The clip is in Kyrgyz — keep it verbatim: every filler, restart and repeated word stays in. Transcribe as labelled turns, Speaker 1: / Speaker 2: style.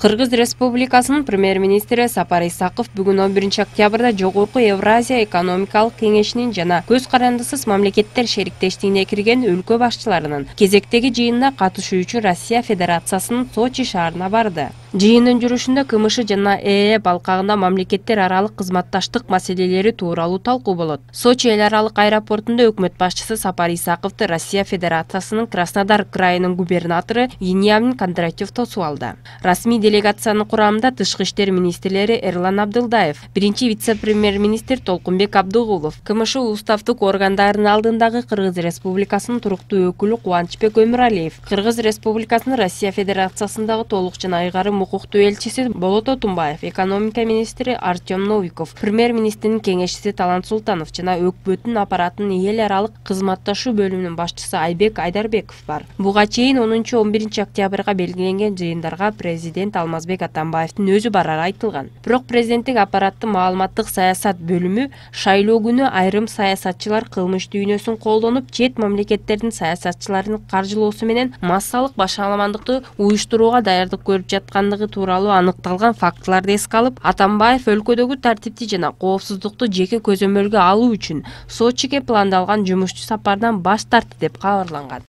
Speaker 1: Кыргыз Республикасынын премьер-министри Сапар Исаков бүгүн он биринчи октябрда Жогорку Евразия экономикалык кеңешинин жана көз карандысыз мамлекеттер шериктештигине кирген өлкө башчыларынын кезектеги жыйынына катышуучу Россия Федерациясынын Сочи шаарына барды. Жыйындын жүрүшүндө КМШ жана ЭЭ балкагында мамлекеттер аралык кызматташтык маселелери тууралуу талкуу болот. Сочи эл аралык аэропортунда өкмөт башчысы Сапар Исаковду Россия Федерациясынын Краснодар крайынын губернатору Вениамин Кондратьев тосуп алды. Расмий делегациянын курамында тышкы иштер министрлери Эрлан Абдылдаев, биринчи вице-премьер-министр Толкунбек Абдыгулов, КМШ уставдык органдарынын алдындагы Кыргыз Республикасынын туруктуу өкүлү Кубанычбек Өмүралиев, Кыргыз Республикасынын Россия Федерациясындагы толук жана айгарым укуктуу элчиси Болот Отунбаев, экономика министри Артем Новиков, премьер-министрдин кеңешчиси Талант Султанов жана өкмөттүн аппаратынын эл аралык кызматташуу бөлүмүнүн башчысы Айбек Айдарбеков бар. Буга чейин онунчу он биринчи октябрга белгиленген жыйындарга президент Алмазбек Атамбаевдин өзү барары айтылган. Бирок президенттик аппараттын маалыматтык саясат бөлүмү шайлоо күнү айрым саясатчылар кылмыш дүйнөсүн колдонуп, чет мамлекеттердин саясатчыларын каржылоосу менен массалык башаламандыкты уюштурууга даярдык көрүп жаткандыгы тууралуу аныкталган фактыларды эске алып, Атамбаев өлкөдөгү тартипти жана коопсуздукту жеке көзөмөлгө алуу үчүн Сочиге пландалган жумушчу сапардан баш тартты деп кабарланган.